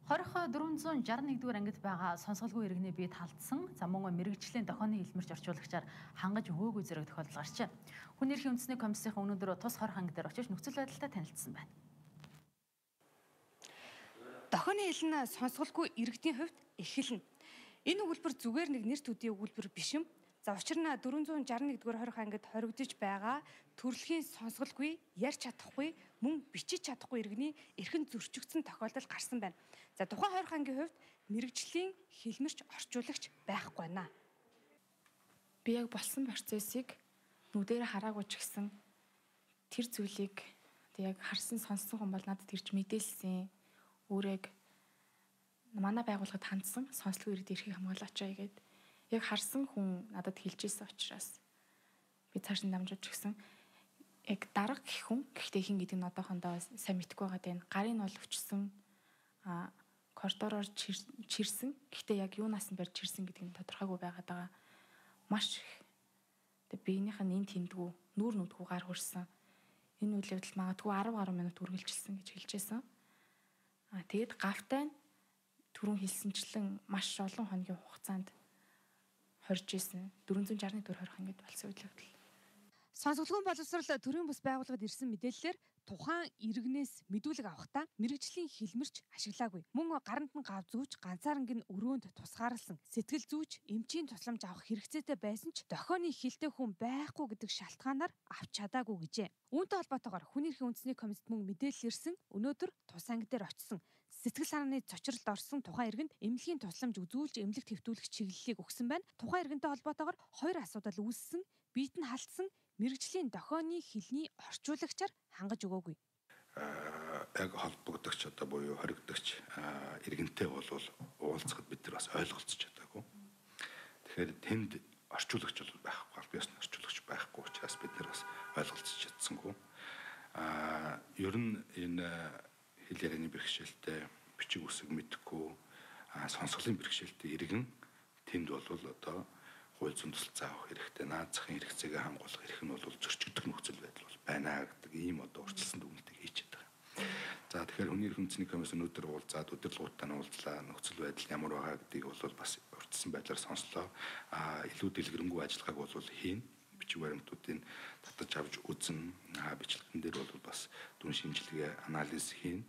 Хорих 461-р ангид байгаа сонсголгүй иргэний бие талдсан мөн мэрэгжлийн дохионы хэлмэрч орчуулагчаар хангаж өгөөгүй зэрэг тохиолдол гарчээ. Хүн эрхийн үндэсний комиссийн өнөөдөр тус хорих анги дээр очиж нөхцөл байдалтай танилцсан байна. Дохионы хэл нь сонсголгүй иргэдийн хувьд эхэлнэ. Энэ өгүүлбэр зүгээр нэг нэр төдий өгүүлбэр биш юм. Учир нь 461-р хорих ангид хоригдож байгаа төрөлхийн сонсголгүй, ярьж чадахгүй, мөн бичиж чадахгүй иргэний эрхэн зөрчигдсөн тохиолдол гарсан байна. Тухайн хорих ангийн хувьд мэрэгжлийн хэлмэрч орчуулагч байхгүй байна. Би яг болсон процессыг нүдээр хараагүй ч гэсэн тэр зүйлийг яг харсан сонссон хүн бол надад ирж мэдээлсэн. Өөрийг манай байгууллагад хандсан сонслогүй иргэд эрхийг хамгаалаач гэдэг яг харсан хүн надад хэлж ирсэн учраас би цааш нь дамжуулж гисэн. Яг дарга гэх хүн гэхдээ хин гэдэг нь одоохондоо сайн мэдэхгүй байгаа дээ. Гарын бол өвчсөн коридороор чирсэн. Гэхдээ яг юунаас нь барьж чирсэн гэдэг нь тодорхойгүй байгаад байгаа. Маш их. Тэгээ биенийх нь энэ тэндгүү нүүр нүдгүү гар хөрсөн. Энэ үйл явдал магадгүй 10 гаруй минут үргэлжилсэн гэж хэлжсэн. Тэгээд гавтай түрүүн хэлсэнчлэн маш олон хоногийн хугацаанд хорж исэн 461 хорих ангид болсон үйл явдал. Сонсголгүй боловсрол төрийн бус байгууллагад ирсэн мэдээллээр тухайн иргэнээс мэдүүлэг авахдаа мэрэгжлийн хэлмэрч ашиглаагүй. Мөн гаранд нь гав зүүж ганцаарнг нь өрөөнд тусгаарласан сэтгэл зүйч эмчийн тусламж авах хэрэгцээтэй байсан ч дохионы хэлтэй хүн байхгүй гэдэг шалтгаанаар авч чадаагүй гэжээ. Үүнтэй холбоотойгоор хүн эрхийн үндэсний комиссд мөн мэдээлэл ирсэн. Өнөөдөр тус анги дээр очсон сэтгэл санааны цочролд орсон тухайн иргэнд эмнэлгийн тусламж үзүүлж эмнэлэг твтүүлэх чиглэлийг өгсөн байна. Тухайн иргэнтэй холбоотойгоор хоёр асуудал үүссэн. Биет нь халтсан мэрэгжлийн дохионы хэлний орчуулагчаар хангаж өгөөгүй. Яг холбогдогч буюу хоригдогч иргэнтэй бол уулзахад бид нар бас ойлголцож чадаагүй. Тэгэхээр тэнд орчуулагч бол байхгүй, аль биесны орчуулагч байхгүй учраас бид нар бас ойлголцож чадсангүй. Ер нь энэ хэл ярианы бэрхшээлтэй бичиг үсэг мэдэхгүй сонсголын бэрхшээлтэй иргэн тэнд бол одоо хууль зүйн тусалцаа авах хэрэгтэй, наад захын хэрэгцээгээ хангуулах эрх нь бол зөрчигдөх нөхцөл байдал бол байна гэдэг ийм одоо урьдчилсан дүгнэлтийг хийж чаддаг. За тэгэхээр хүний эрхийн үндэсний комисс өнөөдөр уулзаад удирдлагуудаа нь уулзлаа, нөхцөл байдал ямар байгаа гэдгийг бол бас урьдчилсан байдлаар сонслоо. Илүү дэлгэрэнгүй ажиллагааг бол хийн. Бичиг баримтуудыг татаж авч үзнэ. Бичлэгэн дээр бол бас дүн шинжилгээ, анализ хийн.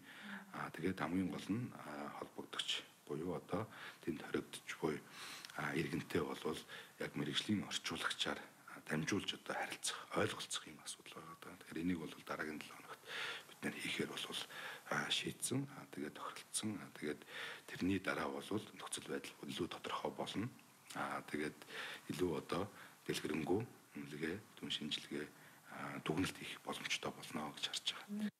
Тэгээд хамгийн гол нь холбогдогч буюу одоо тэнд хоригдож буй иргэнтэй бол яг мэрэгжлийн орчуулагчаар дамжуулж одоо харилцах, ойлголцох юм асуудал байгаа. Тэгэхээр энийг бол дараагийн 7 хоногт бид нэр хийхээр бол шийдсэн. Тэгээд тохиролцсон. Тэгээд тэрний дараа бол нөхцөл байдал илүү тодорхой болно. Тэгээд илүү одоо дэлгэрэнгүй үнэлгээ, дүн шинжилгээ, дүгнэлт хийх боломжтой болно гэж харж байгаа.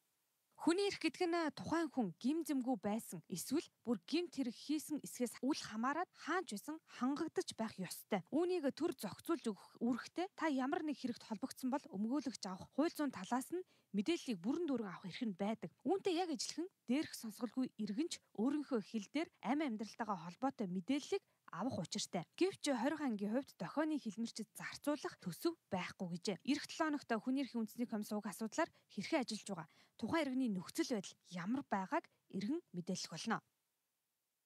Хүний эрх гэдэг нь тухайн хүн гим зэмгүй байсан эсвэл бүр гимт хэрэг хийсэн эсгээс үл хамааран хаанч байсан хангагдаж байх ёстой. Үүнийг төр зохицуулж өгөх үүрэгтэй та ямар нэг хэрэгт холбогдсон бол өмгөөлөгч авах хууль зүйн талаас нь мэдээллийг бүрэн дүүрэн авах эрх нь байдаг. Үүнтэй яг ижилхэн дээрх сонсголгүй иргэнч өөрийнхөө хэл дээр амь амьдралтайгаа холбоотой мэдээллийг авах учиртай. Гэвч хорих ангийн хувьд дохионы хэлмэрчэд зарцуулах төсөв байхгүй гэжээ. Ирэх 7 хоногт хүн эрхийн үндэсний комисс уг асуудлаар хэрхэн ажиллаж байгаа, тухайн иргэний нөхцөл байдал ямар байгааг эргэн мэдээлэх болно.